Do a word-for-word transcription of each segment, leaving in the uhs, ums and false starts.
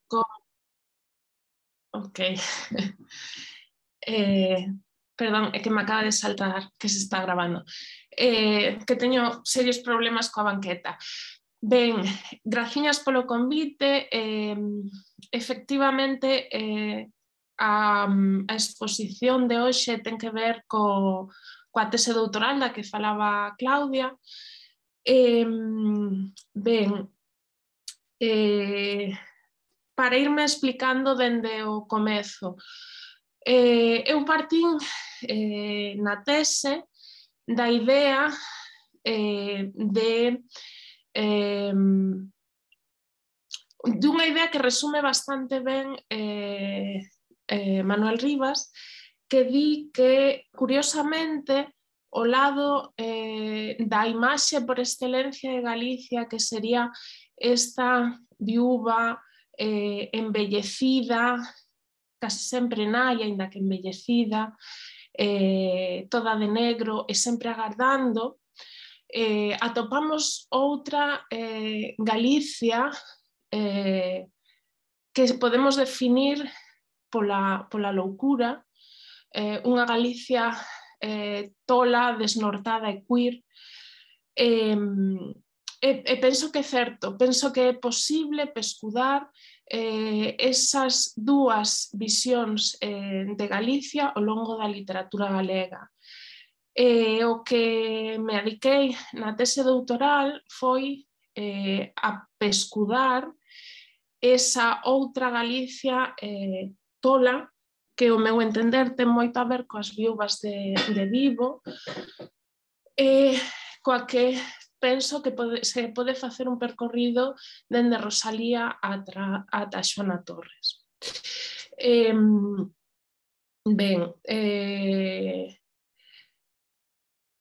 con... Ok. eh, perdón, é que me acaba de saltar que se está grabando. Eh, que teño serios problemas coa banqueta. Ben, graciñas polo convite. Eh, efectivamente, eh, a, a exposición de hoxe ten que ver co, coa tese doutoral da que falaba Claudia. Eh, ben, eh, para irme explicando dende o comezo. Eh, eu partín eh, na tese da idea eh, de eh, dunha idea que resume bastante ben eh, eh, Manuel Rivas, que di que, curiosamente, o lado eh, da imaxe por excelencia de Galicia, que sería esta viúva eh, embellecida, casi sempre nai, aínda que embellecida, eh, toda de negro e sempre agardando, eh, atopamos outra eh, Galicia eh, que podemos definir pola, pola loucura, eh, unha Galicia eh, tola, desnortada e queer. Eh, e, e penso que é certo, penso que é posible pescudar eh, esas dúas visións eh, de Galicia ao longo da literatura galega. Eh, o que me adiquei na tese doutoral foi eh, a pescudar esa outra Galicia eh, tola, que o meu entender ten moito a ver coas viúvas de, de Vivo, eh, coa que penso que pode, se pode facer un percorrido dende Rosalía ata, ata Xoana Torres. Eh, ben, eh,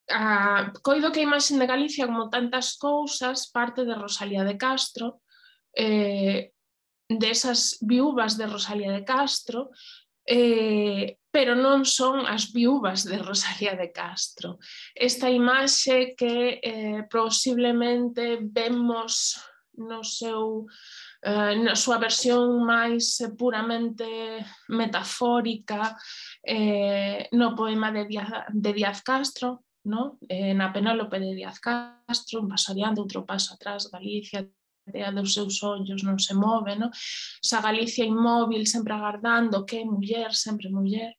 a, coido que a imaxe de Galicia, como tantas cousas, parte de Rosalía de Castro, eh, desas viúvas de Rosalía de Castro, eh, pero non son as viúvas de Rosalía de Castro. Esta imaxe que eh, posiblemente vemos no seu, eh, na súa versión máis puramente metafórica eh, no poema de Díaz, de Díaz Castro, no? eh, na Penólope de Díaz Castro, un paso adiante, outro paso atrás, Galicia, a dos seus ollos non se move, no? Esa Galicia inmóvil, sempre agardando, que é muller, sempre muller.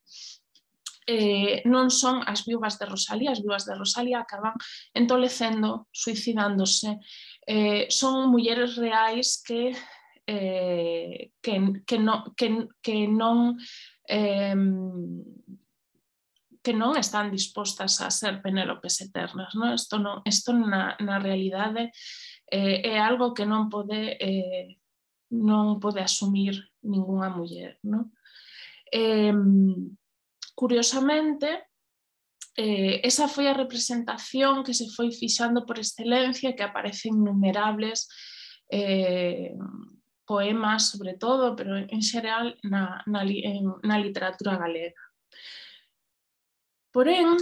Eh, non son as viúvas de Rosalía, as viúvas de Rosalía acaban entolecendo, suicidándose. Eh, son mulleres reais que, eh, que, que, no, que, que non... Eh, que non están dispostas a ser Penélopes eternas, no? Isto, non, isto na, na realidade eh, é algo que non pode, eh, non pode asumir ningunha muller, no? Eh, curiosamente, eh, esa foi a representación que se foi fixando por excelencia, que aparecen innumerables eh, poemas, sobre todo, pero en xeral na, na, en, na literatura galega. Porén,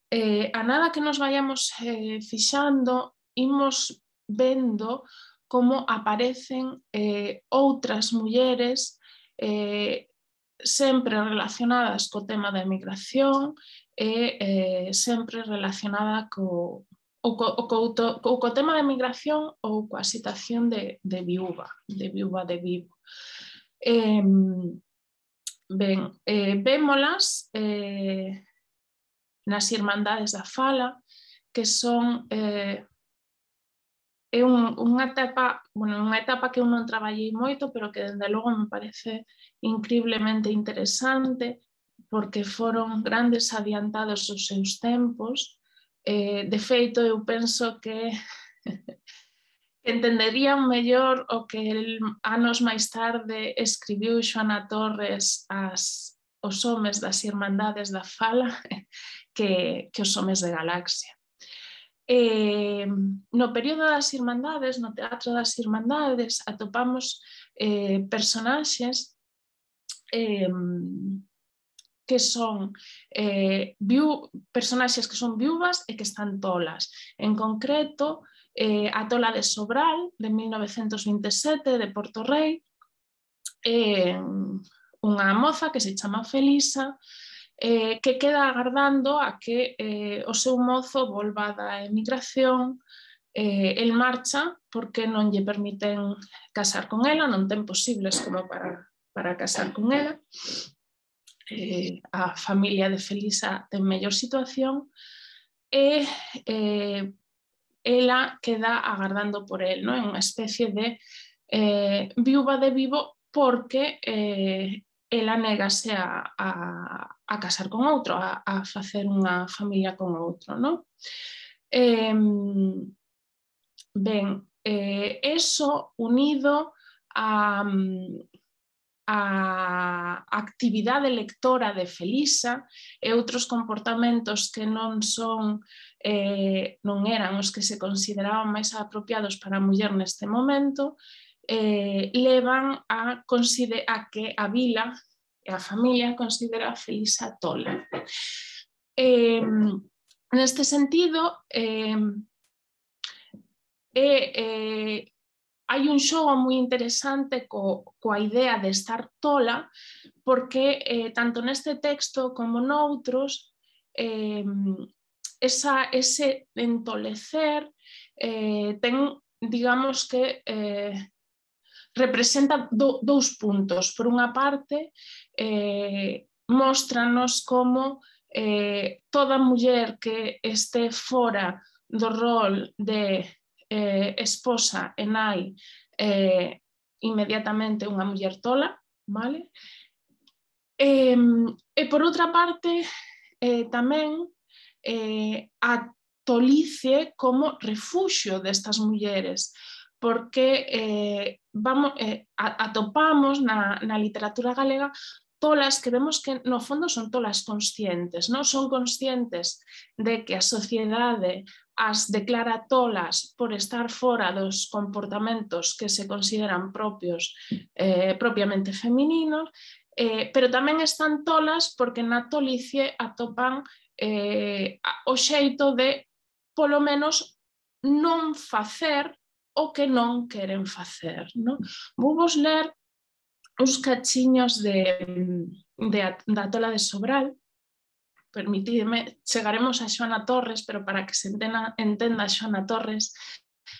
eh, a nada que nos vayamos eh, fixando, imos vendo como aparecen eh, outras mulleres eh, sempre relacionadas co tema da emigración e eh, sempre relacionada co, ou co, co, co, co tema da emigración ou coa situación de, de viúva, de viúva de Vivo. Eh, ben, eh, vémolas eh, nas Irmandades da Fala, que son eh, é un, unha etapa, bueno, unha etapa que eu non traballei moito, pero que dende logo me parece increíblemente interesante, porque foron grandes adiantados os seus tempos. Eh, de feito, eu penso que entenderían mellor o que el, anos máis tarde escribiu Xoana Torres as, os homes das Irmandades da Fala que, que os homes de Galaxia. Eh, no período das Irmandades, no Teatro das Irmandades, atopamos eh, personaxes eh, que son eh, viú, personaxes que son viúvas e que están tolas. En concreto, eh, a tola de Sobral, de mil novecentos vinte e sete, de Porto Rei, é unha moza que se chama Felisa, eh, que queda agardando a que eh, o seu mozo volva da emigración. Eh, el marcha porque non lle permiten casar con ela, non ten posibles como para, para casar con ela. Eh, a familia de Felisa ten mellor situación e eh, ela queda agardando por el, non? É unha especie de eh, viúva de vivo porque eh, ela negase a, a, a casar con outro, a, a facer unha familia con outro, non? Eh, ben, eh, eso unido a, a actividade lectora de Felisa e outros comportamentos que non son eh, non eran os que se consideraban máis apropiados para a muller neste momento, eh, levan a, a que a vila e a familia considera a Felisa tola. Eh, neste sentido, eh, eh, eh, hai un xogo moi interesante co, coa idea de estar tola, porque eh, tanto neste texto como noutros, eh, esa, ese entolecer eh, ten, digamos que, eh, representa do, dous puntos. Por unha parte, eh, móstranos como eh, toda muller que este fora do rol de eh, esposa e nai eh, inmediatamente unha muller tola, vale? E, e por outra parte, eh, tamén eh, a tolice como refuxio destas mulleres, porque eh, vamos, eh, atopamos na, na literatura galega tolas que vemos que no fondo son tolas conscientes, non son conscientes de que a sociedade as declara tolas por estar fora dos comportamentos que se consideran propios, eh, propiamente femininos, eh, pero tamén están tolas porque na tolicie atopan eh, o xeito de, polo menos, non facer o que non queren facer. Non? Vou vos ler uns cachiños de, de, da tola de Sobral. Permitidme, chegaremos a Xoana Torres, pero para que se entenda, entenda Xoana Torres,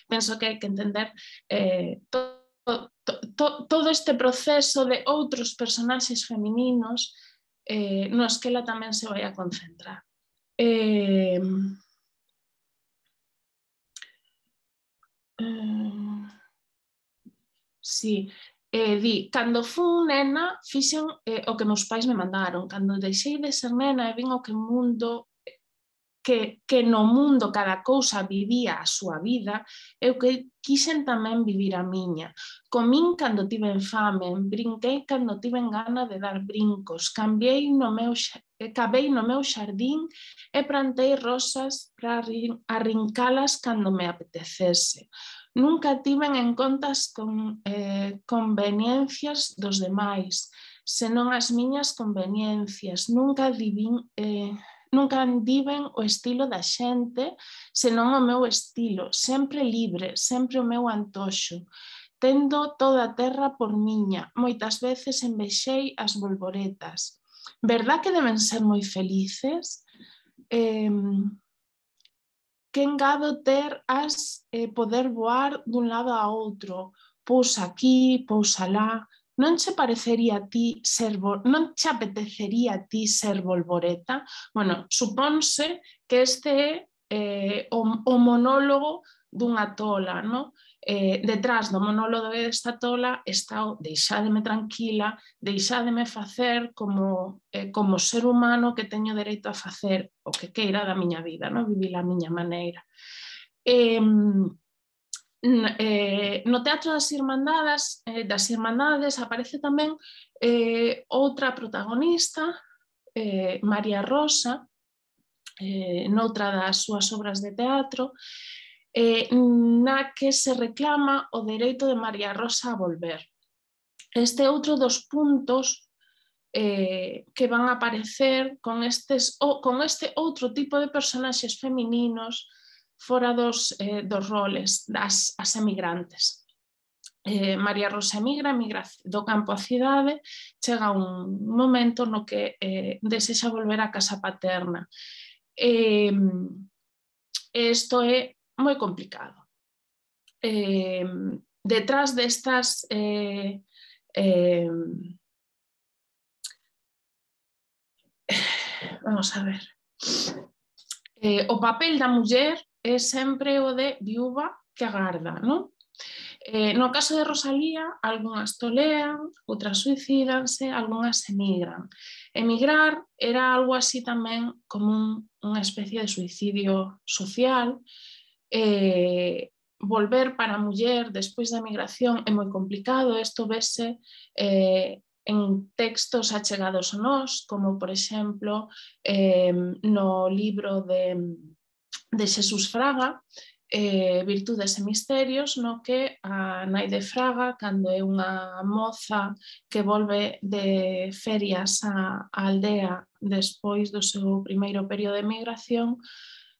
penso que hai que entender eh, to, to, to, todo este proceso de outros personaxes femininos eh, nos que ela tamén se vai a concentrar. Eh, eh, sí, eh, di, cando fun nena fixen eh, o que meus pais me mandaron, cando deixei de ser nena e vin o que mundo que, que no mundo cada cousa vivía a súa vida, eu que quixen tamén vivir a miña. Comín cando tiven fame, brinquei cando tiven gana de dar brincos, cambiei no meu, cabei no meu xardín e plantei rosas para arrincalas cando me apetecese. Nunca tiven en contas con eh, conveniencias dos demais, senón as miñas conveniencias. Nunca divin... Eh, Nunca andiven o estilo da xente, senón o meu estilo, sempre libre, sempre o meu antoxo. Tendo toda a terra por miña, moitas veces envexei as bolboretas. Verdad que deben ser moi felices? Eh, que engado ter as eh, poder voar dun lado a outro, pousa aquí, pousa lá. Non che parecería a ti ser, non che apetecería a ti ser bolboreta? Bueno, supónse que este é eh, o, o monólogo dunha tola, no? Eh, detrás do monólogo desta tola está o deixádeme tranquila, deixádeme facer como, eh, como ser humano que teño dereito a facer o que queira da miña vida, no? Vivir a miña maneira. Eh, Eh, no Teatro das Irmandades, eh, das Irmandades aparece tamén eh, outra protagonista, eh, María Rosa, eh, noutra das súas obras de teatro, eh, na que se reclama o dereito de María Rosa a volver. Este é outro dos puntos eh, que van a aparecer con, estes, o, con este outro tipo de personaxes femininos fora dos, eh, dos roles das as emigrantes. eh, María Rosa emigra, emigra do campo á cidade, chega un momento no que eh, desexa volver á casa paterna. E eh, isto é moi complicado. Eh, detrás destas eh, eh, vamos a ver, eh, o papel da muller é sempre o de viúva que agarda, non? Eh, no caso de Rosalía, algunhas tolean, outras suicídanse, algunhas emigran. Emigrar era algo así tamén como un, unha especie de suicidio social. Eh, volver para a muller despois da migración é moi complicado. Isto vese eh, en textos achegados a nós, como por exemplo eh, no libro de, de Xesús Fraga, eh, Virtudes e Misterios, no que a nai de Fraga, cando é unha moza que volve de ferias á aldea despois do seu primeiro período de migración,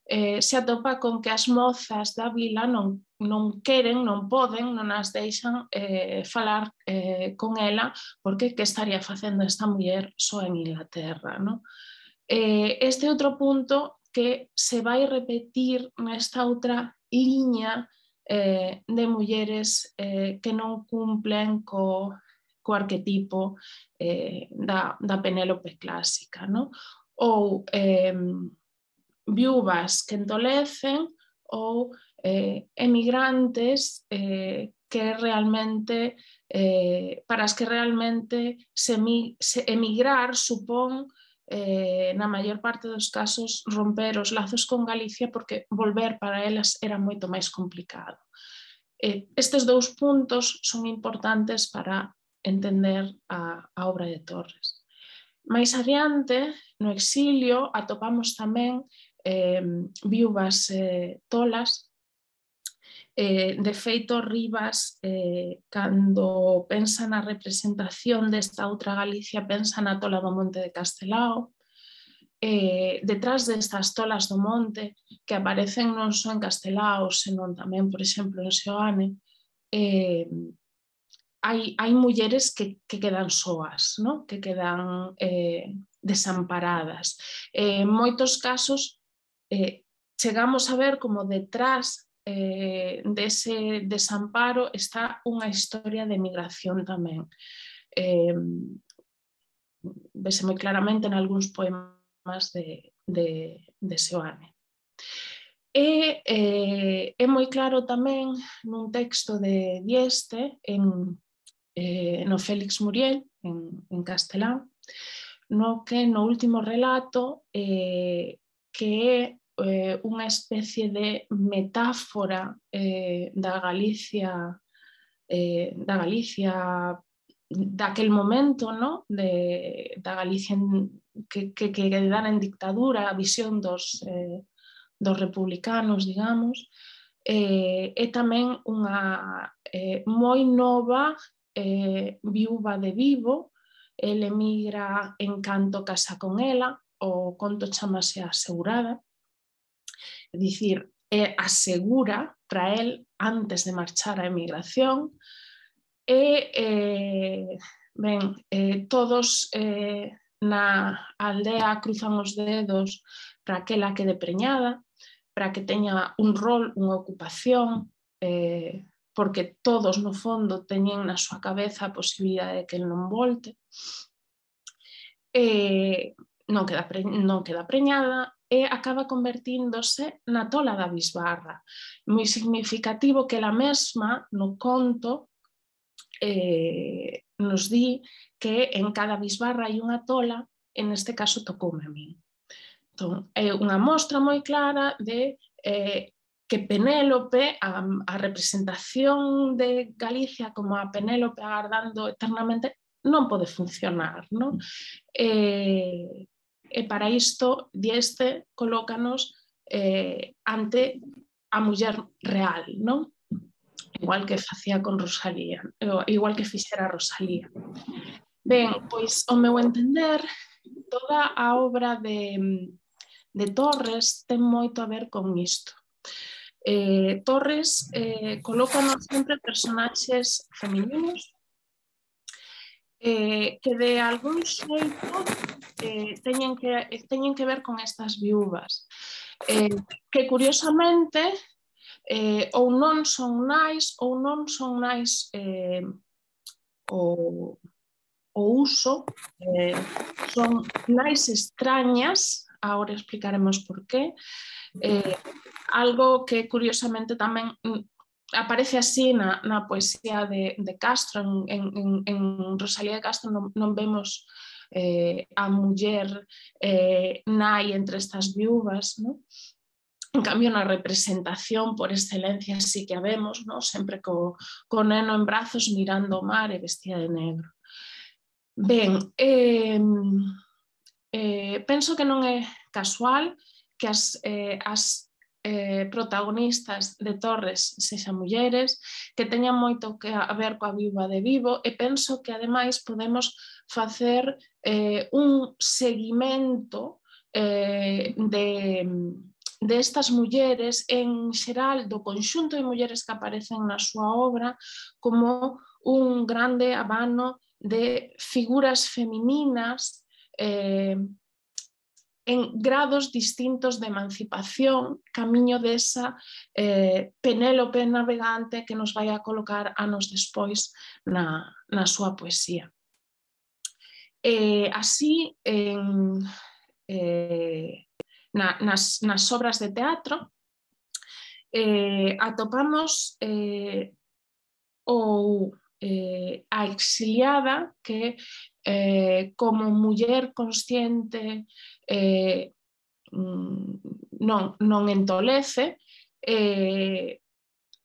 eh, se atopa con que as mozas da vila non, non queren, non poden, non as deixan eh, falar eh, con ela, porque que estaría facendo esta muller só en Inglaterra, no? Eh, este outro punto que se vai repetir nesta outra liña eh, de mulleres eh, que non cumplen co, co arquetipo eh, da, da Penélope clásica, no? Ou eh, viúvas que entolecen ou eh, emigrantes eh, que realmente, eh, para as que realmente se, se emigrar supón Eh, na maior parte dos casos romper os lazos con Galicia, porque volver para elas era moito máis complicado. Eh, estes dous puntos son importantes para entender a, a obra de Torres. Mais adiante, no exilio, atopamos tamén eh, viúvas eh, tolas. Eh, de feito, Rivas, eh, cando pensa na representación desta outra Galicia, pensa na tola do Monte de Castelao. Eh, detrás destas tolas do monte, que aparecen non só en Castelao, senón tamén, por exemplo, en Seoane, eh, hai, hai mulleres que, que quedan soas, ¿no? Que quedan eh, desamparadas. Eh, en moitos casos, eh, chegamos a ver como detrás Eh, dese desamparo está unha historia de migración tamén. Eh, vese moi claramente en algúns poemas de, de, de Seoane. E eh, é moi claro tamén nun texto de Dieste, en, eh, no Félix Muriel, en, en castelán, no que no último relato eh, que é Eh, unha especie de metáfora eh, da Galicia eh, da Galicia daquel momento, ¿no? de, da Galicia que, que, que dan en dictadura, a visión dos, eh, dos republicanos, digamos, eh, é tamén unha eh, moi nova eh, viúva de Vivo. Ele emigra en canto casa con ela, o conto chamase Asegurada. É dicir, é asegura para el antes de marchar á emigración. E, eh, ben, eh, todos eh, na aldea cruzan os dedos para que ela quede preñada, para que teña un rol, unha ocupación, eh, porque todos no fondo teñen na súa cabeza a posibilidade de que el non volte. Eh, non queda, pre, non queda preñada, e acaba convertíndose na tola da bisbarra. Moi significativo que ela mesma, no conto, eh, nos di que en cada bisbarra hai unha tola, e neste caso tocoume a min. Entón, é unha mostra moi clara de eh, que Penélope, a, a representación de Galicia como a Penélope agardando eternamente, non pode funcionar, non? Eh, E para isto, Dieste colócanos eh, ante a muller real, non? Igual que facía con Rosalía, igual que fixera Rosalía. Ben, pois, ao meu entender, toda a obra de, de Torres ten moito a ver con isto. Eh, Torres eh, colócanos sempre personaxes femininos eh, que de algún xeito eh, teñen, que, teñen que ver con estas viúvas, eh, que curiosamente eh, ou non son nais ou non son nais eh, o, o uso, eh, son nais extrañas, agora explicaremos por qué, eh, algo que curiosamente tamén aparece así na, na poesía de, de Castro. En, en, en Rosalía de Castro non, non vemos eh, a muller eh, nai entre estas viúvas, ¿no? En cambio, na representación por excelencia sí que a vemos, ¿no? Sempre co, co neno en brazos mirando o mar e vestida de negro. Ben, eh, eh, penso que non é casual que as, eh, as eh, protagonistas de Torres sexan mulleres, que teñan moito que a ver coa viúva de Vivo, e penso que ademais podemos facer eh, un seguimento eh, de, de estas mulleres en xeral do conxunto de mulleres que aparecen na súa obra como un grande abano de figuras femininas eh, en grados distintos de emancipación, camiño desa eh, Penélope navegante que nos vai a colocar anos despois na, na súa poesía. Eh, así, en, eh, na, nas, nas obras de teatro, eh, atopamos eh, ou eh, a exiliada que eh, como muller consciente eh, non, non entolece, eh,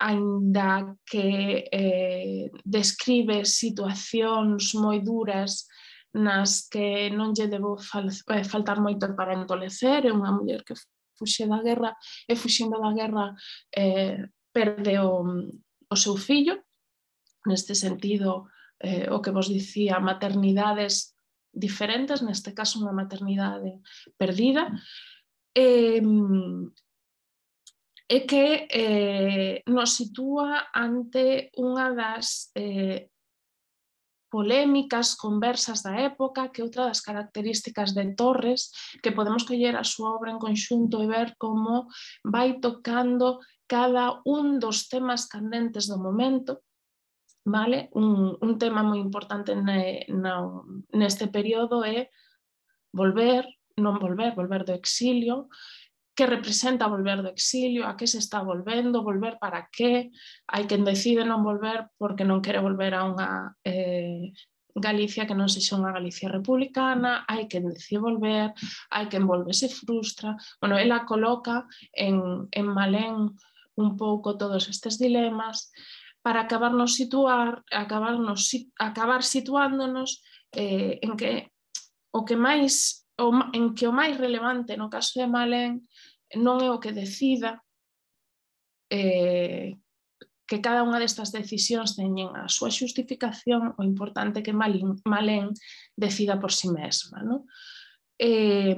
aínda que eh, describe situacións moi duras nas que non lle debo fal, eh, faltar moito para entolecer. É unha muller que fuxe da guerra e fuxindo da guerra eh, perde o, o seu fillo. Neste sentido, eh, o que vos dicía, maternidades diferentes, neste caso unha maternidade perdida, e, e que eh, nos sitúa ante unha das eh, polémicas conversas da época, que outra das características de Torres, que podemos coller a súa obra en conxunto e ver como vai tocando cada un dos temas candentes do momento. Vale? Un, un tema moi importante ne, no, neste período é volver, non volver, volver do exilio, que representa volver do exilio, a que se está volvendo, volver para que, hai quen decide non volver porque non quere volver a unha eh, Galicia que non sexa unha Galicia republicana, hai quen decide volver, hai quen volve se frustra. Bueno, ela coloca en, en Malén un pouco todos estes dilemas, para acabarnos situar, acabarnos, acabar situándonos eh, en que o que máis, o, en que o máis relevante no caso de Malén non é o que decida, eh, que cada unha destas decisións teñen a súa xustificación, o importante é que Malén, Malén decida por si mesma, non? Eh,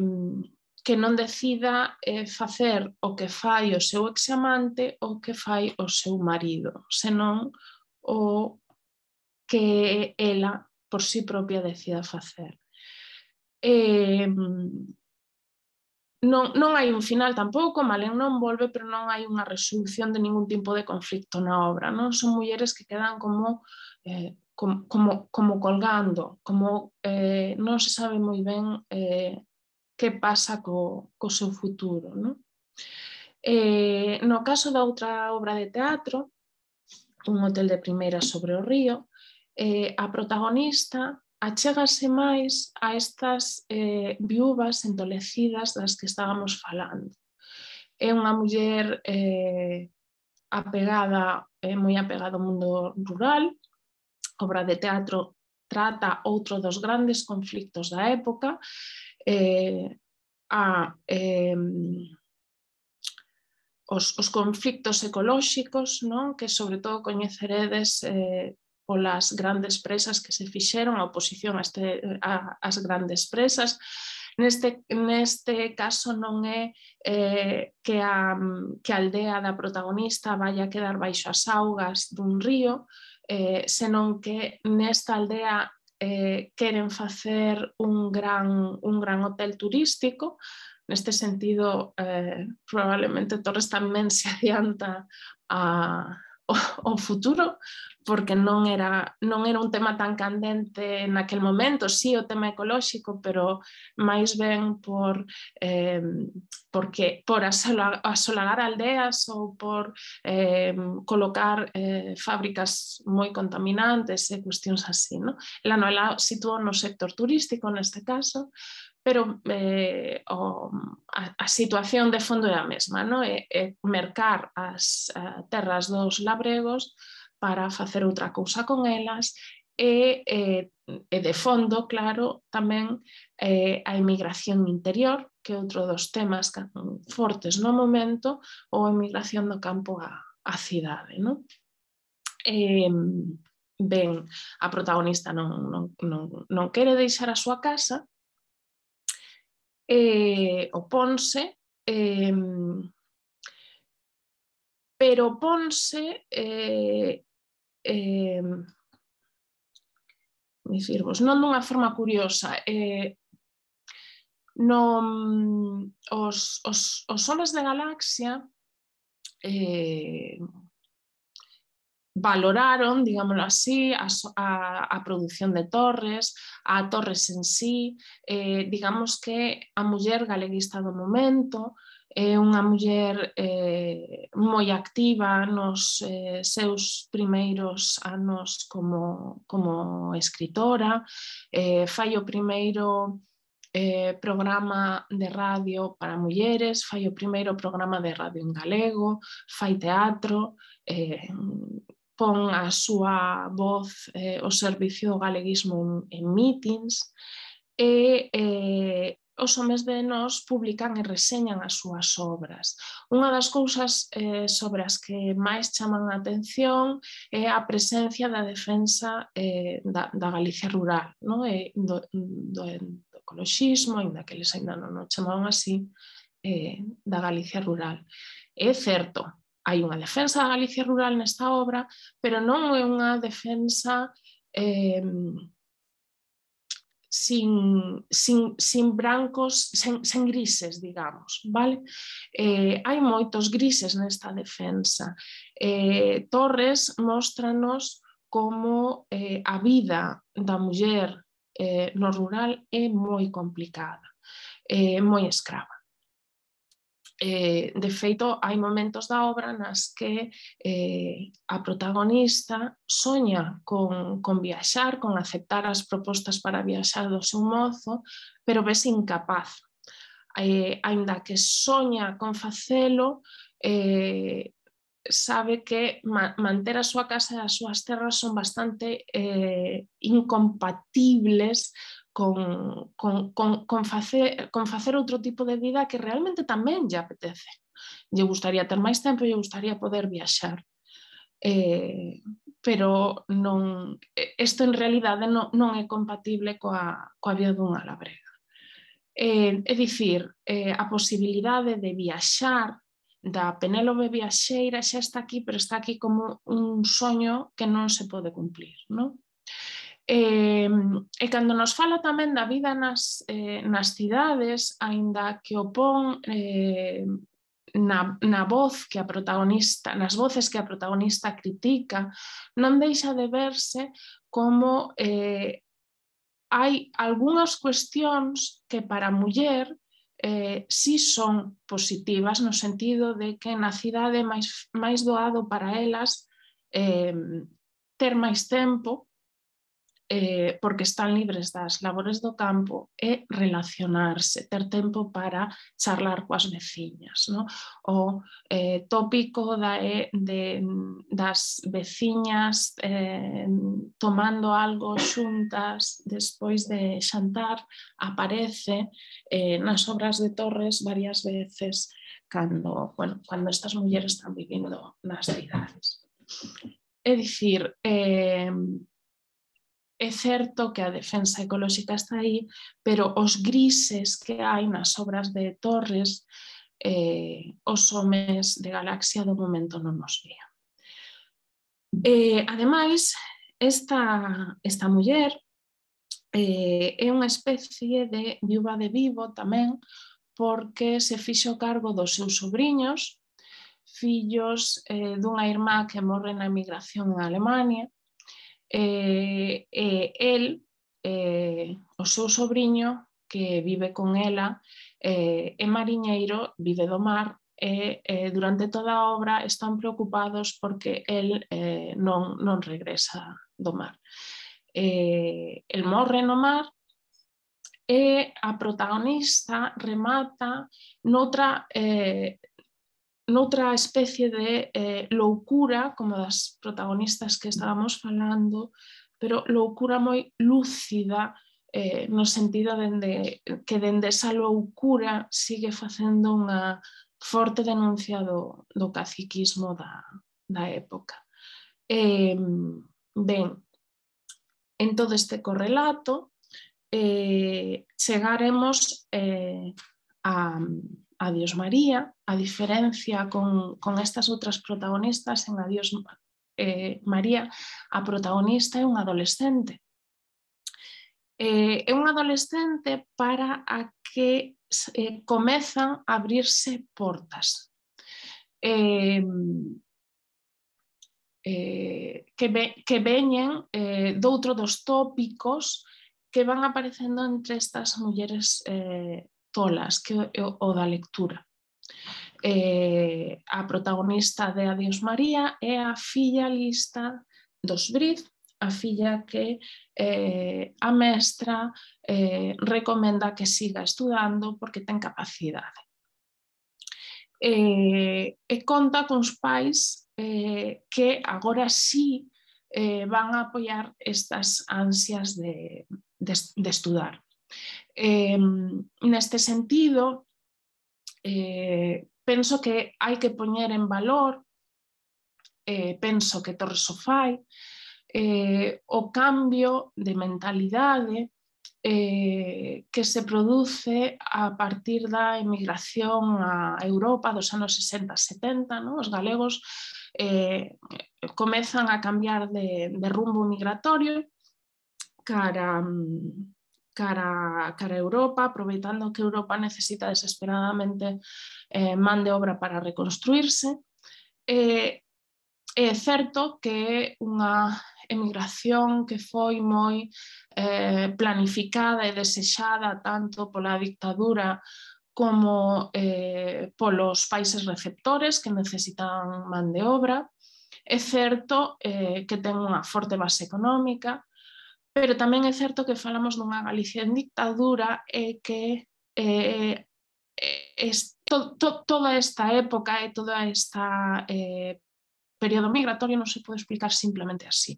que non decida eh, facer o que fai o seu examante ou que fai o seu marido, senón o que ela por si propia decida facer. Eh, non, non hai un final tampouco, Malén non volve, pero non hai unha resolución de ningún tipo de conflicto na obra, non? Son mulleres que quedan como, eh, como, como, como colgando, como eh, non se sabe moi ben eh, que pasa co, co seu futuro, non? Eh, no caso da outra obra de teatro, Un hotel de primeira sobre o río, eh, a protagonista achégase máis a estas eh, viúvas entolecidas das que estábamos falando. É unha muller eh, apegada, eh, moi apegada ao mundo rural. A obra de teatro trata outro dos grandes conflictos da época, eh, a eh, os, os conflictos ecolóxicos, non? Que sobre todo coñeceredes eh, polas grandes presas que se fixeron, a oposición a este, a, as grandes presas, Neste, neste caso non é eh, que, a, que a aldea da protagonista vai a quedar baixo as augas dun río, eh, senón que nesta aldea eh, queren facer un gran, un gran hotel turístico. Neste sentido, eh, probablemente Torres tamén se adianta a, o, o futuro, porque non era, non era un tema tan candente naquel momento, sí o tema ecolóxico, pero máis ben por, eh, porque, por asola, asolagar aldeas ou por eh, colocar eh, fábricas moi contaminantes e cuestións así, ¿no? La novela situou no sector turístico neste caso, pero eh, o, a, a situación de fondo é a mesma, no? É, é mercar as uh, terras dos labregos para facer outra cousa con elas e, e, e de fondo, claro, tamén eh, a emigración interior, que é outro dos temas fortes no momento, ou a emigración do campo á, á cidade, no? Eh, ben, a protagonista non, non, non, non quere deixar a súa casa, Eh, oponse, eh, pero oponse eh, eh, dicirvos, non dunha forma curiosa, eh, non, os, os, os soles de galaxia eh, valoraron, digámoslo así, a, a, a produción de Torres, a Torres en sí, eh, digamos que a muller galeguista do momento, é unha muller eh, moi activa nos eh, seus primeiros anos como, como escritora, eh, fai o primeiro eh, programa de radio para mulleres, fai o primeiro programa de radio en galego, fai teatro, eh, pon a súa voz eh, ao servicio do galeguismo en, en meetings e eh, os homes de nós publican e reseñan as súas obras. Unha das cousas eh, sobre as que máis chaman a atención é a presencia da defensa eh, da, da Galicia rural, no? E do, do, do ecoloxismo, ainda que eles ainda non o chamaban así, eh, da Galicia rural. É certo, hai unha defensa da Galicia rural nesta obra, pero non é unha defensa eh, sin, sin, sin brancos, sen, sen grises, digamos, vale? Eh, hai moitos grises nesta defensa. Eh, Torres móstranos como eh, a vida da muller eh, no rural é moi complicada, é moi escrava. Eh, de feito, hai momentos da obra nas que eh, a protagonista soña con, con viaxar, con aceptar as propostas para viaxar do seu mozo, pero vese incapaz. Eh, ainda que soña con facelo, eh, sabe que ma manter a súa casa e as súas terras son bastante eh, incompatibles Con, con, con, con, facer, con facer outro tipo de vida que realmente tamén lle apetece. Lle gustaría ter máis tempo, lle gustaría poder viaxar. Eh, pero non, isto en realidade non, non é compatible coa, coa vida dunha labrega. Eh, é dicir, eh, a posibilidade de viaxar da Penélope viaxeira xa está aquí, pero está aquí como un soño que non se pode cumplir, non? Eh, e cando nos fala tamén da vida nas, eh, nas cidades, aínda que o pon eh, na, na voz que a protagonista, nas voces que a protagonista critica, non deixa de verse como eh, hai algunhas cuestións que para a muller eh, si son positivas, no sentido de que na cidade é máis, máis doado para elas eh, ter máis tempo, Eh, porque están libres das labores do campo e relacionarse, ter tempo para charlar coas veciñas, no? O eh, tópico da, de, das veciñas eh, tomando algo xuntas despois de xantar aparece eh, nas obras de Torres varias veces cando, bueno, cando estas mulleres están vivindo nas cidades. É dicir, eh, é certo que a defensa ecolóxica está aí, pero os grises que hai nas obras de Torres, eh, os homes de Galaxia do momento non nos vían. Eh, ademais, esta, esta muller eh, é unha especie de viúva de vivo tamén, porque se fixo cargo dos seus sobrinhos, fillos eh, dunha irmá que morre na emigración en Alemania, e eh, eh, el, eh, o seu sobrinho, que vive con ela, eh, é mariñeiro, vive do mar, e eh, durante toda a obra están preocupados porque el eh, non, non regresa do mar. Eh, el morre no mar e a protagonista remata noutra, eh, noutra especie de eh, loucura, como das protagonistas que estábamos falando, pero loucura moi lúcida, eh, no sentido de que dende esa loucura sigue facendo unha forte denuncia do, do caciquismo da, da época. Eh, ben, en todo este correlato, eh, chegaremos eh, a, a Dios María, a diferencia con, con estas outras protagonistas. En Adiós eh, María, a protagonista é un adolescente. Eh, é un adolescente para a que eh, comezan a abrirse portas. Eh, eh, que, ve, que veñen eh, doutro dos tópicos que van aparecendo entre estas mulleres eh, tolas, que é o, o da lectura. Eh, a protagonista de Adiós María é a filla lista dos Briz, a filla que eh, a mestra eh, recomenda que siga estudando porque ten capacidade. Eh, e conta cuns pais eh, que agora sí eh, van a apoiar estas ansias de, de, de estudar. Eh, neste sentido, eh, penso que hai que poñer en valor, eh, penso que Torres o fai, eh, o cambio de mentalidade eh, que se produce a partir da emigración a Europa dos anos sesenta setenta, ¿no? Os galegos eh, comezan a cambiar de, de rumbo migratorio cara, cara, cara a Europa, aproveitando que Europa necesita desesperadamente eh, man de obra para reconstruirse. Eh, é certo que é unha emigración que foi moi eh, planificada e desexada tanto pola dictadura como eh, polos países receptores que necesitan man de obra. É certo eh, que ten unha forte base económica, pero tamén é certo que falamos dunha Galicia en dictadura e que eh, es, to, to, toda esta época e toda esta eh, período migratorio non se pode explicar simplemente así.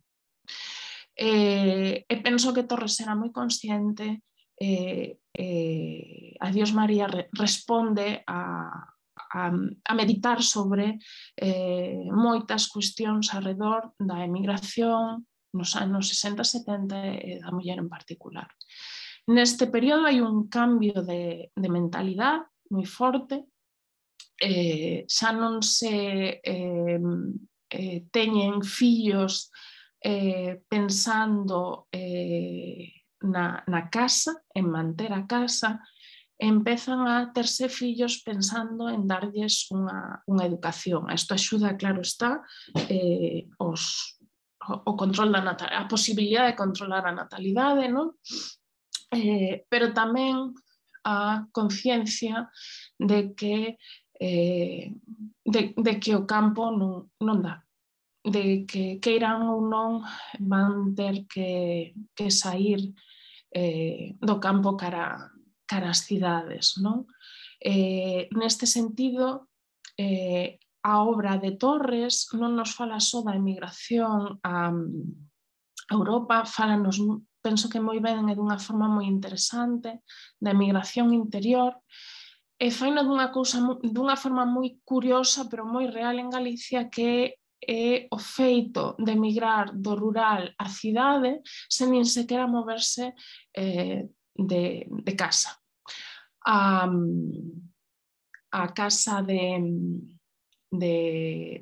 Eh, e penso que Torres era moi consciente, eh, eh, Adiós María re, responde a, a, a meditar sobre eh, moitas cuestións arredor da emigración nos anos sesenta setenta e da muller en particular. Neste período hai un cambio de, de mentalidade moi forte, eh, xa non se eh, eh, teñen fillos eh, pensando eh, na, na casa, en manter a casa, empezan a terse fillos pensando en darlles unha, unha educación. Isto axuda, claro está, eh, os, o, o control da natalidade, a posibilidade de controlar a natalidade, non? Eh, pero tamén a conciencia de que eh, de, de que o campo non, non dá, de que queiran ou non van ter que, que sair eh, do campo cara, cara as cidades, non? Eh, neste sentido, eh, a obra de Torres non nos fala só da emigración a, a Europa, falanos, penso que moi ben e dunha forma moi interesante, da emigración interior, e faino dunha, cousa, dunha forma moi curiosa, pero moi real en Galicia, que é o feito de emigrar do rural á cidade sen nin sequera moverse eh, de, de casa. A, a casa de, de,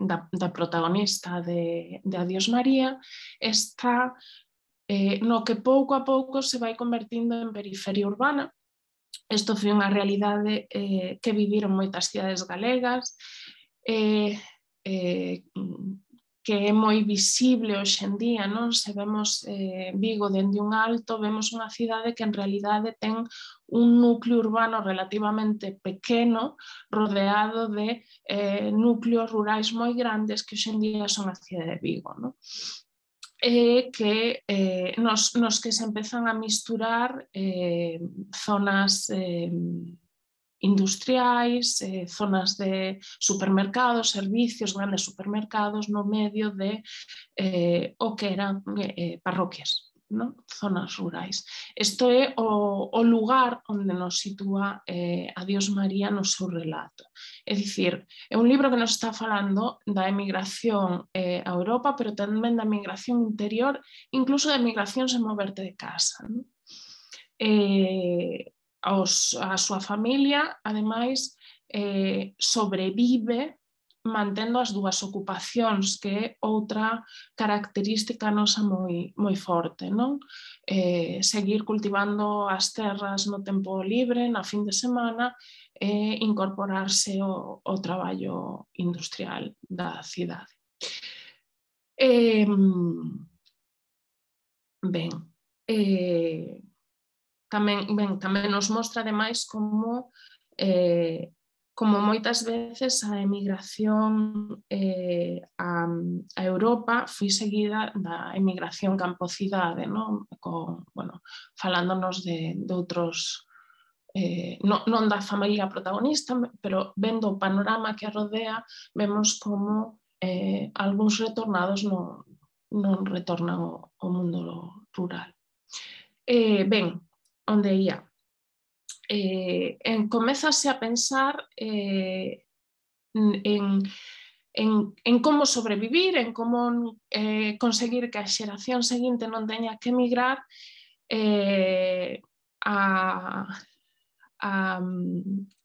da, da protagonista de, de Adiós María está eh, no que pouco a pouco se vai convertindo en periferia urbana. Isto foi unha realidade eh, que viviron moitas cidades galegas, eh, eh, que é moi visible hoxe en día, non? Se vemos eh, Vigo dende un alto, vemos unha cidade que en realidade ten un núcleo urbano relativamente pequeno, rodeado de eh, núcleos rurais moi grandes que hoxe en día son a cidade de Vigo, non? Eh, que, eh, nos, nos que se empezan a misturar eh, zonas eh, industriais, eh, zonas de supermercados, servicios, grandes supermercados no medio de eh, o que eran eh, parroquias, ¿no? Zonas rurais. Isto é o, o lugar onde nos sitúa eh, Adiós María no seu relato. É dicir, é un libro que nos está falando da emigración eh, a Europa, pero tamén da emigración interior, incluso da emigración sen moverte de casa, ¿no? Eh, Os, a súa familia, ademais, eh, sobrevive mantendo as dúas ocupacións, que é outra característica nosa moi, moi forte, non? Eh, seguir cultivando as terras no tempo libre, na fin de semana, e incorporarse ao, ao traballo industrial da cidade. Eh, ben, eh, Tamén, ben, tamén nos mostra ademais como, eh, como moitas veces a emigración eh, a, a Europa foi seguida da emigración campo-cidade, non? Con, bueno, falándonos de, de outros, eh, non, non da familia protagonista, pero vendo o panorama que a rodea, vemos como eh, algúns retornados non, non retornan ao, ao mundo rural. Eh, ben, onde ia? Eh, en, comezase a pensar eh, en, en, en como sobrevivir, en como eh, conseguir que a xeración seguinte non teña que emigrar, eh, a, a,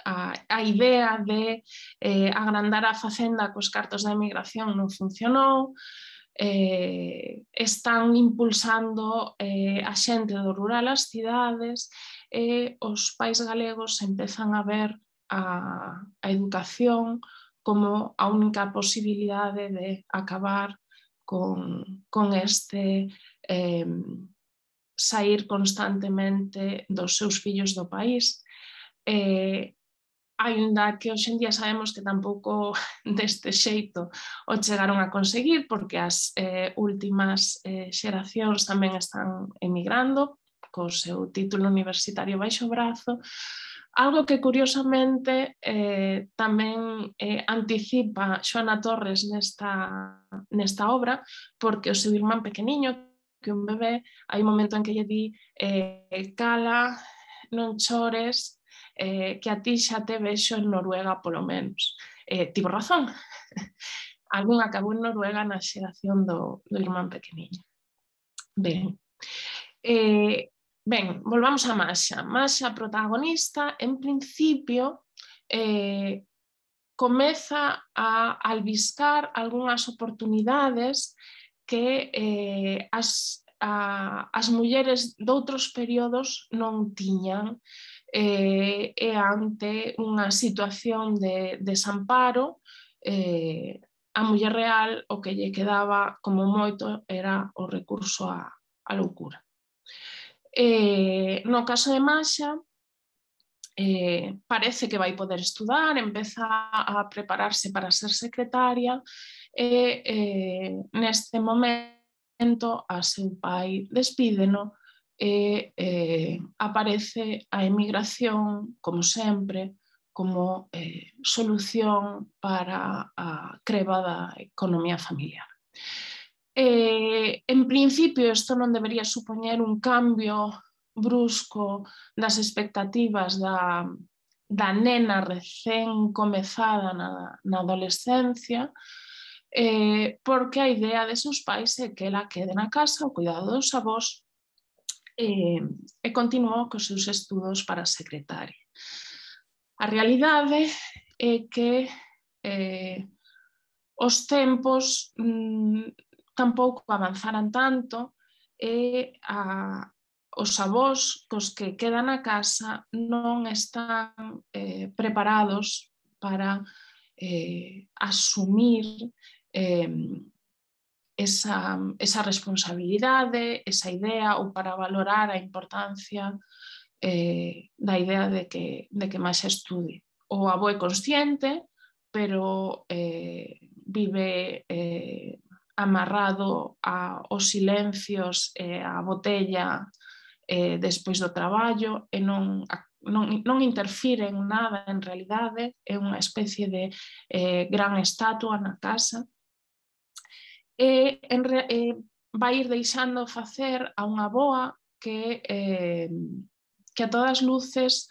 a, a idea de eh, agrandar a facenda cos cartos da emigración non funcionou. Eh, están impulsando eh, a xente do rural ás cidades e os pais galegos empezan a ver a, a educación como a única posibilidade de acabar con, con este eh, sair constantemente dos seus fillos do país. Eh, Ainda que hoxe en día sabemos que tampouco deste xeito o chegaron a conseguir, porque as eh, últimas eh, xeracións tamén están emigrando co seu título universitario baixo o brazo, algo que curiosamente eh, tamén eh, anticipa Xoana Torres nesta, nesta obra, porque o seu irmán pequeniño, que un bebé, hai un momento en que lle di eh, cala, non chores, Eh, que a ti xa te vexo en Noruega polo menos. Eh, tivo razón. Algún acabou en Noruega na xeración do, do irmán pequeniño. Ben, eh, ben, volvamos a Masha. Masha, protagonista, en principio, eh, comeza a albiscar algunhas oportunidades que eh, as, a, as mulleres doutros períodos non tiñan, eh, e ante unha situación de desamparo, eh, a muller real o que lle quedaba como moito era o recurso á, á loucura. Eh, no caso de Masha, eh, parece que vai poder estudar, empeza a prepararse para ser secretaria e eh, neste momento a seu pai despídeno e eh, aparece a emigración, como sempre, como eh, solución para a creba da economía familiar. Eh, en principio, isto non debería supoñer un cambio brusco das expectativas da, da nena recén comezada na, na adolescencia, eh, porque a idea de seus pais é que ela quede na casa ao cuidado dos avós e, e continuou cos seus estudos para secretaria. A realidade é que eh, os tempos mm, tampouco avanzaran tanto e a, os avós cos que quedan na casa non están eh, preparados para eh, asumir eh, esa, esa responsabilidade, esa idea, ou para valorar a importancia eh, da idea de que, de que máis estude. O avó é consciente, pero eh, vive eh, amarrado aos silencios e a botella eh, despois do traballo e non, non, non interfire en nada en realidade, é unha especie de eh, gran estatua na casa. E, en, eh, vai ir deixando facer a unha boa que, eh, que a todas luces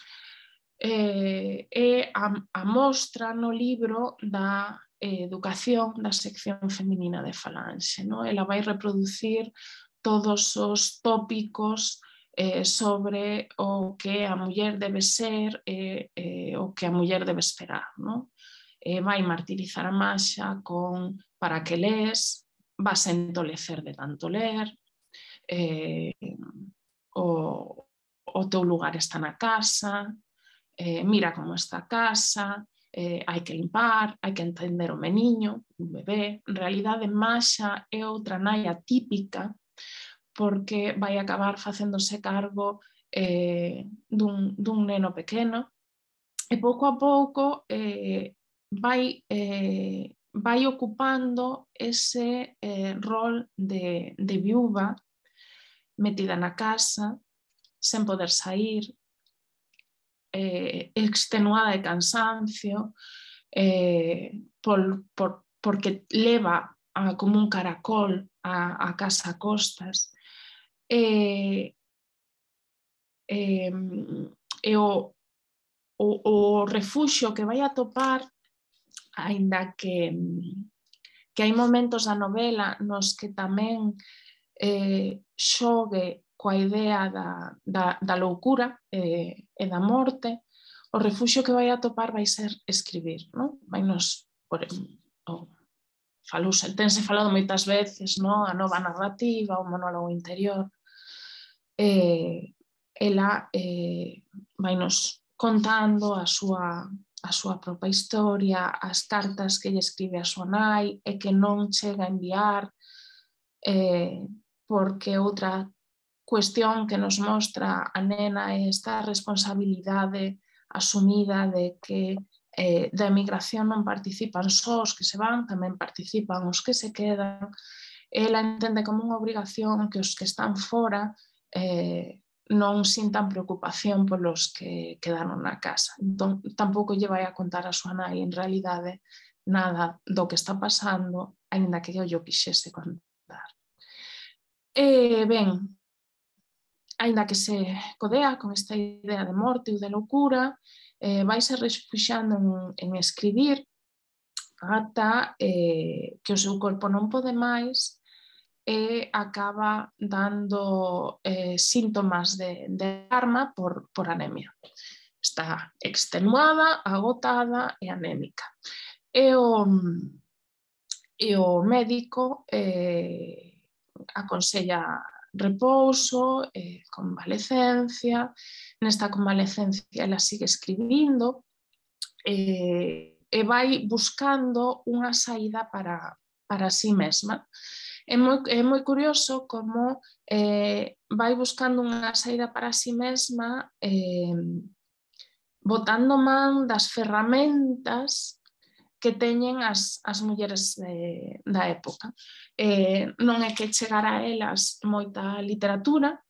eh, é a, a mostra no libro da eh, educación da sección feminina de Falanxe. No? Ela vai reproducir todos os tópicos eh, sobre o que a muller debe ser e eh, o que a muller debe esperar. No? Eh, vai martirizar a Masha con para que lees, vas a entolecer de tanto ler, eh, o, o teu lugar está na casa, eh, mira como está a casa, eh, hai que limpar, hai que entender o meniño, un bebé. En realidade, Masha é outra nai atípica porque vai acabar facéndose cargo eh, dun, dun neno pequeno e pouco a pouco eh, vai... Eh, vai ocupando ese eh, rol de, de viúva metida na casa, sen poder sair, eh, extenuada de cansancio, eh, por, por, porque leva a, como un caracol a, a casa a costas. Eh, eh, e o, o, o refuxio que vai a topar, aínda que, que hai momentos da novela nos que tamén eh, xogue coa idea da, da, da loucura eh, e da morte, o refuxio que vai a topar vai ser escribir. Non? Vai nos, por, oh, falouse, tense falado moitas veces, non? A nova narrativa, o monólogo interior. Eh, ela eh, vai nos contando a súa a súa propia historia, as cartas que lle escribe a súa nai e que non chega a enviar, eh, porque outra cuestión que nos mostra a nena é esta responsabilidade asumida de que eh, da emigración non participan só os que se van, tamén participan os que se quedan. Ela entende como unha obrigación que os que están fora eh, non sintan preocupación polos que quedaron na casa. Entón, tampouco lle vai a contar a súa nai en realidade nada do que está pasando, aínda que eu quixese contar. E, ben, aínda que se codea con esta idea de morte ou de loucura, eh, vai se refuxando en, en escribir ata eh, que o seu corpo non pode máis e acaba dando eh, síntomas de, de alarma por, por anemia. Está extenuada, agotada e anémica. E o, e o médico eh, aconsella repouso, eh, convalecencia. Nesta convalecencia ela sigue escribindo eh, e vai buscando unha saída para, para si mesma. É moi, é moi curioso como eh, vai buscando unha saída para si mesma eh, botando man das ferramentas que teñen as, as mulleres de, da época. Eh, non é que chegara a elas moita literatura,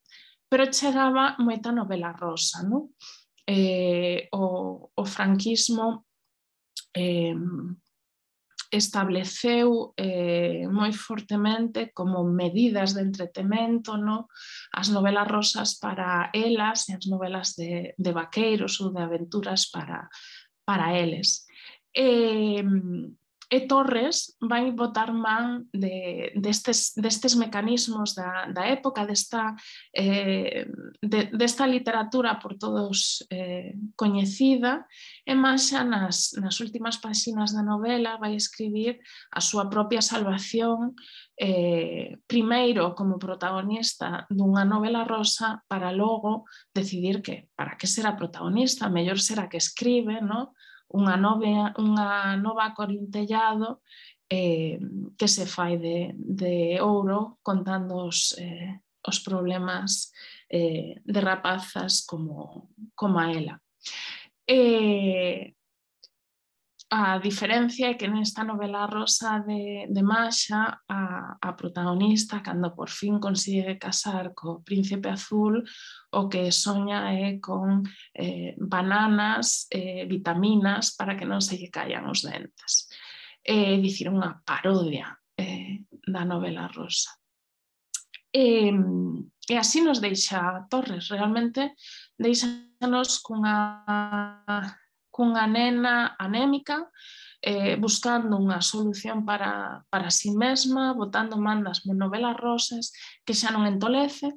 pero chegaba moita novela rosa. Non? Eh, o, o franquismo eh, estableceu eh, moi fortemente como medidas de entretemento, no? As novelas rosas para elas e as novelas de, de vaqueiros ou de aventuras para, para eles. E, E Torres vai botar man de, destes, destes mecanismos da, da época, desta, eh, de, desta literatura por todos eh, coñecida, e máis xa nas, nas últimas páxinas da novela vai escribir a súa propia salvación, eh, primeiro como protagonista dunha novela rosa, para logo decidir que para que será protagonista, mellor será que escribe, no? Unha, nove, unha nova Corintellado eh, que se fai de, de ouro contando os, eh, os problemas eh, de rapazas como, como a ela. Eh, a diferencia é que nesta novela rosa de, de Masha, a, a protagonista, cando por fin consigue casar co príncipe azul, o que soña é con eh, bananas, eh, vitaminas, para que non se lle caian os dentes. É dicir, unha parodia eh, da novela rosa. E, e así nos deixa Torres, realmente deixanos cunha cunha nena anémica, eh, buscando unha solución para, para si mesma, botando man das novelas rosas, que xa non entolece,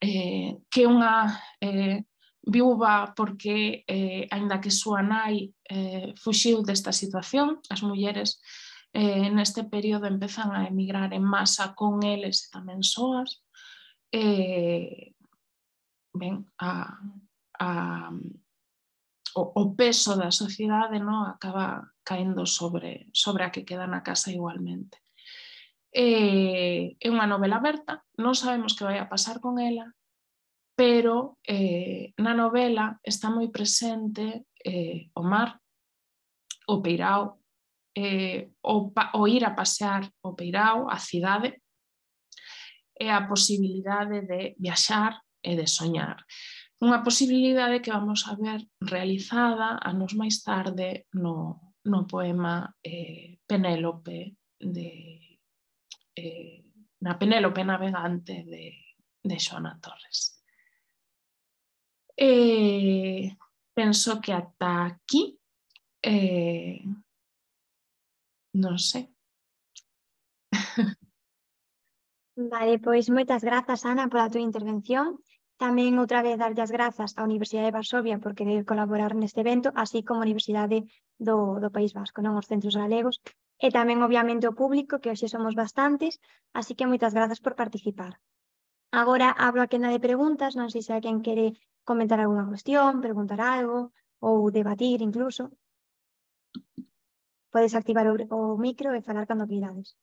eh, que unha eh, viúva porque, eh, aínda que súa nai eh, fuxiu desta situación, as mulleres eh, neste período empezan a emigrar en masa con eles e tamén soas, eh, ben, a, a O, o peso da sociedade, no, acaba caendo sobre, sobre a que queda na casa igualmente. É, é unha novela aberta, non sabemos que vai a pasar con ela, pero eh, na novela está moi presente eh, o mar, o peirao, eh, o, o ir a pasear o peirao, a cidade, e a posibilidade de viaxar e de soñar. Unha posibilidade que vamos a ver realizada anos máis tarde no, no poema eh, Penélope, de, eh, na Penélope navegante de, de Xoana Torres. Eh, penso que ata aquí, eh, non sei. Vale, pois moitas grazas, Ana, pola túa intervención. Tamén outra vez darlle as grazas á Universidade de Varsovia por querer colaborar neste evento, así como a Universidade do, do País Vasco, non os centros galegos, e tamén obviamente o público, que hoxe somos bastantes, así que moitas grazas por participar. Agora abro a quenda de preguntas, non sei se alguén quere comentar algunha cuestión, preguntar algo ou debatir incluso. Podes activar o, o micro e falar cando queirades.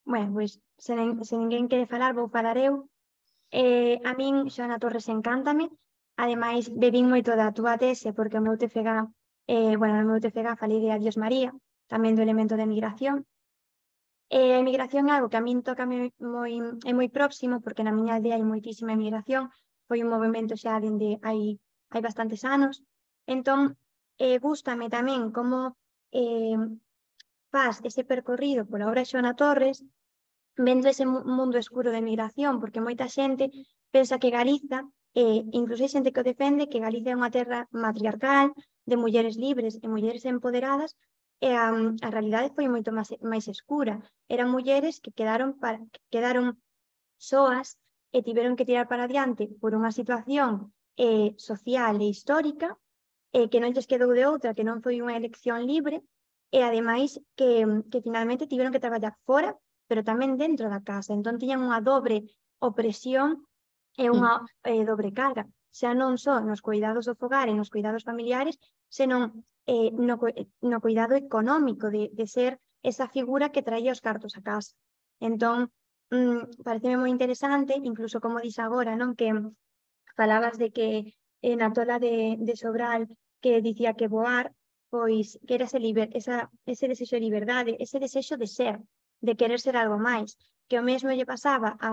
Bueno, pois se, nen, se ninguén quere falar, vou falar eu. Eh, a min Xoana Torres encántame. Ademais, bebín moito da túa tese porque o meu T F G, eh, bueno, no meu T F G falei de Adiós María, tamén do elemento de migración. Eh, a emigración é algo que a min toca moi, moi, é moi próximo porque na miña aldea hai moitísima emigración. Foi un movimento xa dende hai, hai bastantes anos. Entón, eh, gústame tamén como eh, faz ese percorrido pola obra de Xoana Torres, vendo ese mundo escuro de migración, porque moita xente pensa que Galiza, eh, incluso hai xente que o defende, que Galiza é unha terra matriarcal, de mulleres libres e mulleres empoderadas, e a, a realidade foi moito máis, máis escura. Eran mulleres que quedaron, para, que quedaron soas e tiveron que tirar para adiante por unha situación eh, social e histórica, eh, que non lles quedou de outra, que non foi unha elección libre, e ademais que, que finalmente tiveron que traballar fora, pero tamén dentro da casa. Entón tiñan unha dobre opresión e unha eh, dobre carga, xa non só nos cuidados do fogar e nos cuidados familiares, senón eh, no, no cuidado económico de, de ser esa figura que traía os cartos a casa. Entón, mmm, pareceme moi interesante, incluso como dis agora, non, que falabas de que eh, na tola de, de Sobral que dicía que voar, pois que era ese, liber, esa, ese desexo de liberdade, ese desexo de ser, de querer ser algo máis, que o mesmo lle pasaba a,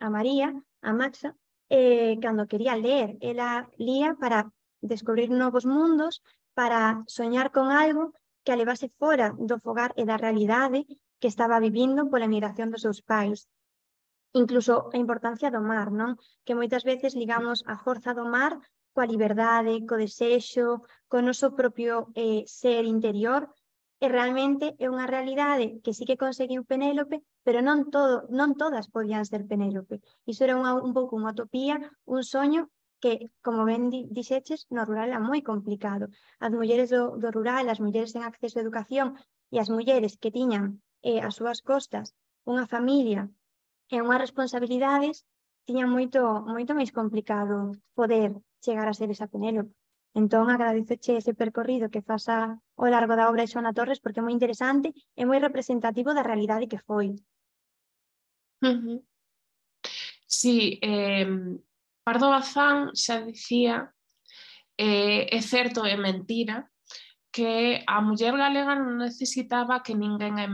a María, a Maxa, eh, cando quería ler. Ela lía para descubrir novos mundos, para soñar con algo que a levase fora do fogar e da realidade que estaba vivindo pola migración dos seus pais. incluso a importancia do mar, non? Que moitas veces ligamos a forza do mar coa liberdade, co desexo, co noso propio eh, ser interior, e realmente é unha realidade que sí que conseguiu Penélope, pero non todo, non todas podían ser Penélope. Iso era unha, un pouco unha utopía, un soño que, como ben di, dixeches, no rural era moi complicado. As mulleres do, do rural, as mulleres sen acceso a educación e as mulleres que tiñan eh, as súas costas unha familia e unhas responsabilidades, tiña moito, moito máis complicado poder chegar a ser esa Penélope. Entón, agradezoche ese percorrido que fas ao largo da obra de Xoana Torres porque é moi interesante e moi representativo da realidade que foi. Uh-huh. Sí, eh, Pardo Bazán xa dicía, eh, é certo e mentira, que a muller galega non necesitaba que ninguén a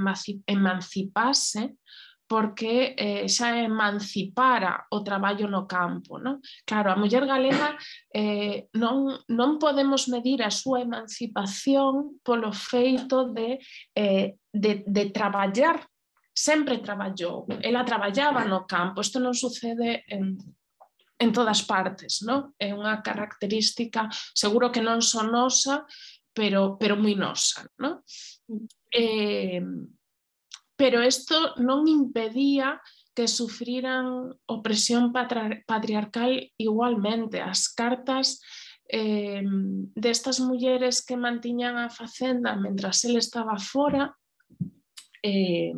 emancipase porque eh, xa emancipara o traballo no campo. Non? Claro, a muller galega eh, non, non podemos medir a súa emancipación polo feito de, eh, de, de traballar. Sempre traballou. Ela traballaba no campo. Isto non sucede en, en todas partes. Non? É unha característica, seguro que non son nosa, pero, pero moi nosa. Non? Eh, pero isto non impedía que sufriran opresión patriarcal igualmente. As cartas eh, destas mulleres que mantiñan a facenda mentras ele estaba fora eh,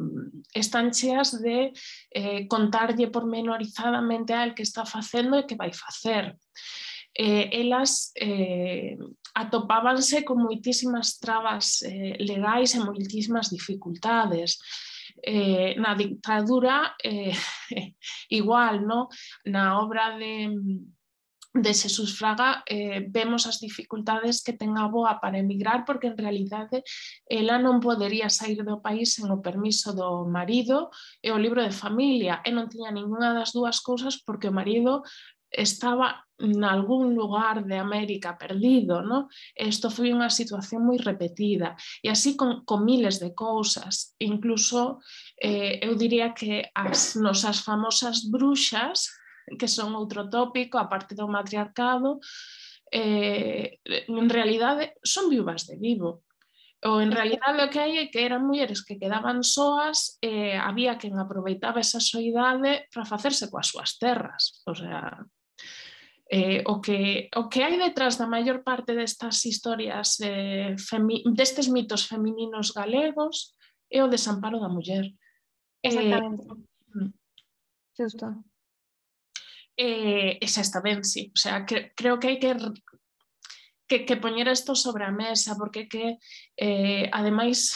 están cheas de eh, contarlle pormenorizadamente a el que está facendo e que vai facer. Eh, elas eh, atopábanse con moitísimas trabas eh, legais e moitísimas dificultades. Eh, na dictadura eh, igual, no? Na obra de, de Xesús Fraga eh, vemos as dificultades que ten a avoa para emigrar porque en realidade ela non podería sair do país sen o permiso do marido e o libro de familia e non tiña ninguna das dúas cousas porque o marido estaba en algún lugar de América perdido, ¿no? Isto foi unha situación moi repetida e así con, con miles de cousas, incluso eh, eu diría que as nosas famosas bruxas, que son outro tópico, a parte do matriarcado, eh, en realidade son viúvas de vivo. Ou en realidade o que hai é que eran mulleres que quedaban soas e eh, había quen aproveitaba esa soidade para facerse coas súas terras, o sea... Eh, o, que, o que hai detrás da maior parte destas historias eh, destes mitos femininos galegos é o desamparo da muller. Exactamente. Eh, Justo. Eh, e xa está ben, sí. O sea, que, creo que hai que, que, que poñer isto sobre a mesa porque que, eh, ademais,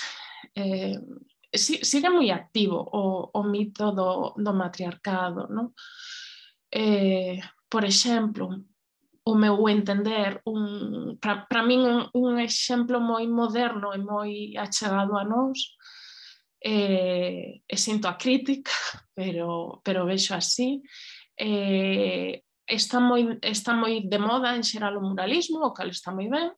eh, si, sigue moi activo o, o mito do, do matriarcado, non? Eh, por exemplo, o meu entender, un, para min un, un exemplo moi moderno e moi achegado a nós, eh, e sinto a crítica, pero, pero vexo así, eh, está, moi, está moi de moda en xeral o muralismo, o cal está moi ben.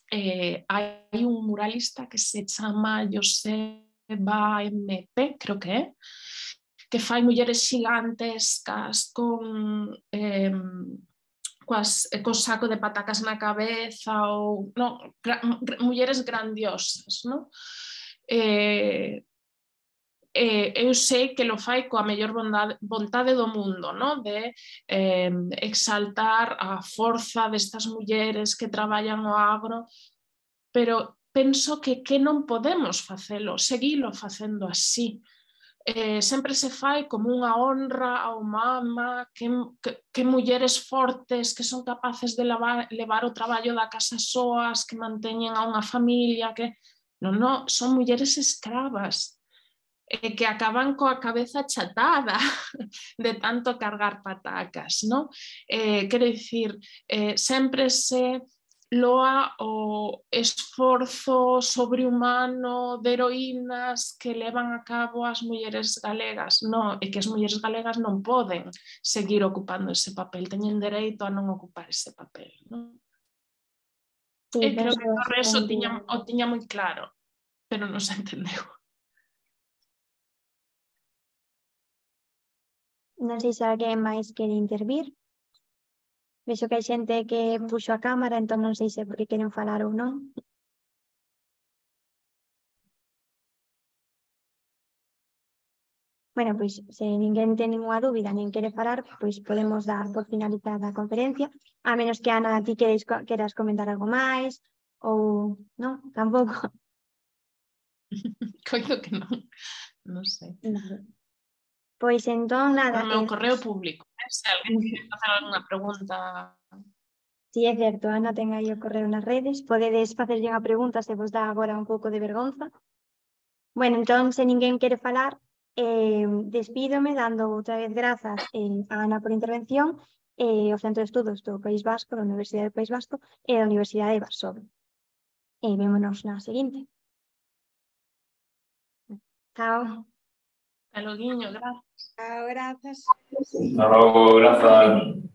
Eh, hai un muralista que se chama Joseba M P, creo que é, que fai mulleres xigantescas con eh, coas, co saco de patacas na cabeza ou no, gra, mulleres grandiosas, no? Eh, eh, eu sei que lo fai coa mellor bondade, vontade do mundo, no? De eh, exaltar a forza destas mulleres que traballan no agro, pero penso que que non podemos facelo, seguilo facendo así. Eh, sempre se fai como unha honra ao mama, que, que, que mulleres fortes que son capaces de levar, levar o traballo da casa soas, que manteñen a unha familia, que non, non, son mulleres escravas eh, que acaban coa cabeza chatada de tanto cargar patacas, non? Eh, quero dicir, eh, sempre se loa o esforzo sobrehumano de heroínas que levan a cabo as mulleres galegas. Non, é que as mulleres galegas non poden seguir ocupando ese papel, teñen dereito a non ocupar ese papel. Non? Sí, e creo que Torres o tiña, o tiña moi claro, pero non se entendeu. Non sei se alguén máis quere intervir. Vexo que hai xente que puxo a cámara, entón non sei se porque queren falar ou non. Bueno, pois se ninguén ten ninguna dúbida nin quere falar, pois podemos dar por finalizada a conferencia, a menos que Ana ti queres, queras comentar algo máis ou non, tampouco. Coido que non, non sei. Vale. Pois entón nada. Por meu eh, correo público, eh? Se alguén quere facer alguna pregunta. Si é certo, Ana ten aí o correo nas redes, podedes facerlle unha pregunta se vos dá agora un pouco de vergonza. Bueno, entón, se ninguén quere falar, eh, despídome dando outra vez grazas eh, a Ana por intervención e o Centro de Estudos do País Vasco, da Universidade do País Vasco e da Universidade de Varsovia. E vémonos na seguinte. Chao. Hasta loguiño, gracias. Chao, grazas. Hasta luego, gracias.